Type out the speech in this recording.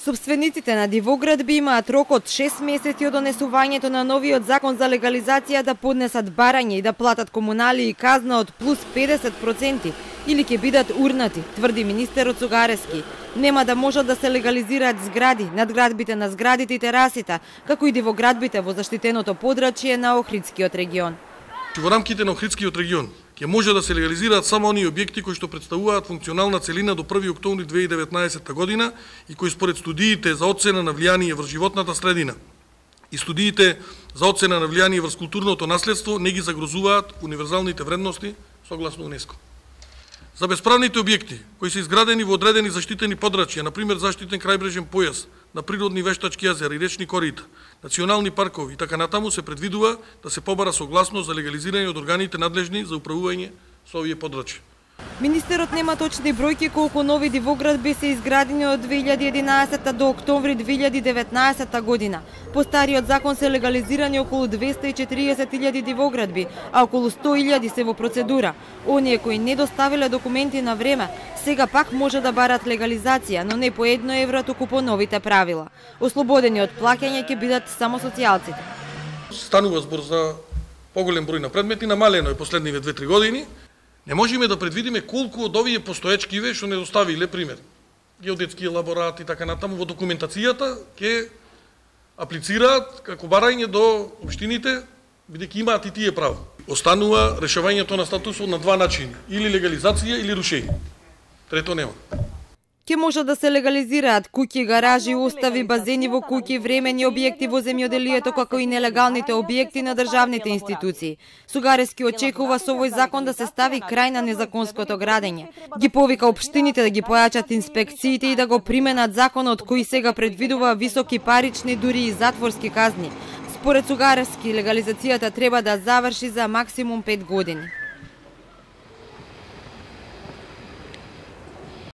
Собствениците на дивоградби имаат рок од 6 месеци од донесувањето на новиот закон за легализација да поднесат барање и да платат комунали и казна од плюс 50% или ќе бидат урнати, тврди министерот Цугарески. Нема да можат да се легализираат згради, надградбите на зградите и терасите, како и дивоградбите во заштитеното подрачје на Охридскиот регион. Во рамките на Охридскиот регион ќе може да се легализираат само оние објекти кои што представуваат функционална целина до 1 октомври 2019 година и кои според студиите за оцена на влијание врз животната средина и студиите за оцена на влијание врз културното наследство не ги загрозуваат универзалните вредности согласно УНЕСКО. За бесправните објекти кои се изградени во одредени заштитени подрачја, например заштитен крајбрежен појас на природни вештачки јазера и речни корита, национални паркови и така натаму се предвидува да се побара согласност за легализирање од органите надлежни за управување со овие подрачја. Министерот нема точни бројки колку нови дивоградби се изградени од 2011 до октомври 2019 година. По стариот закон се легализирани околу 240.000 дивоградби, а околу 100.000 се во процедура. Оние кои не доставиле документи на време, сега пак може да барат легализација, но не по €1, туку по новите правила. Ослободени од плаќање ќе бидат само социјалците. Станува збор за поголем број на предмети, намалено е последниве 2-3 години. Не можеме да предвидиме колку од овие постоечкиве што не доставиле, пример, геодетски елаборат и така натаму во документацијата ќе аплицираат како барање до општините, бидејќи имаат и тие право. Останува решавањето на статусот на два начини, или легализација или рушење. Трето нема. Ке може да се легализираат куќи, гаражи, устави, базени во куќи, времени објекти во земјоделието, како и нелегалните објекти на државните институции. Цугарески очекува со овој закон да се стави крај на незаконското градење. Ги повика општините да ги појачат инспекциите и да го применат законот кој сега предвидува високи парични, дури и затворски казни. Според Цугарески, легализацијата треба да заврши за максимум 5 години.